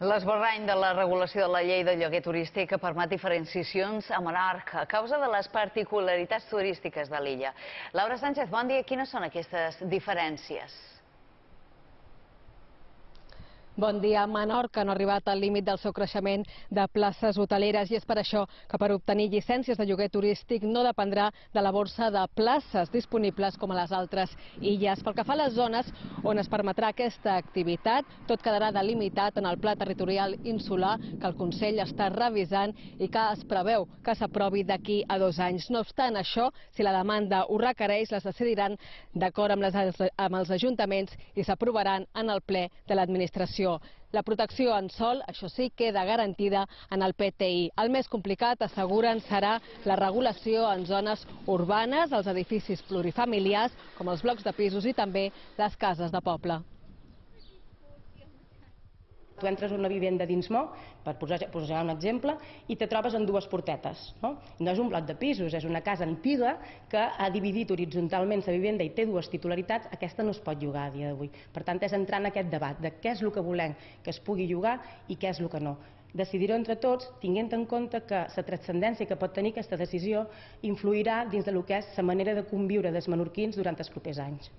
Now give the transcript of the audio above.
L'esborrany de la regulació de la llei de lloguer turístic permet diferenciacions a Menorca a causa de les particularitats turístiques de l'illa. Laura Sánchez, bon dia. Quines són aquestes diferències? Bon dia. Menorca no ha arribat al límit del seu creixement de places hoteleres i és per això que per obtenir llicències de lloguer turístic no dependrà de la borsa de places disponibles com a les altres illes. Pel que fa a les zones on es permetrà aquesta activitat, tot quedarà delimitat en el Pla Territorial Insular que el Consell està revisant i que es preveu que s'aprovi d'aquí a 2 anys. No obstant això, si la demanda ho requereix, les decidiran d'acord amb els ajuntaments i s'aprovaran en el ple de l'administració. La protecció en sòl, això sí, queda garantida en el PTI. El més complicat, asseguren, serà la regulació en zones urbanes, els edificis plurifamiliars, com els blocs de pisos i també les cases de poble. Tu entres a una vivenda d'Insmo, per posar un exemple, i te trobes en 2 portetes. No és un bloc de pisos, és una casa antiga que ha dividit horitzontalment la vivenda i té 2 titularitats. Aquesta no es pot llogar a dia d'avui. Per tant, és entrar en aquest debat de què és el que volem que es pugui llogar i què és el que no. Decidir-ho entre tots, tenint en compte que la transcendència que pot tenir aquesta decisió influirà dins del que és la manera de conviure dels menorquins durant els propers anys.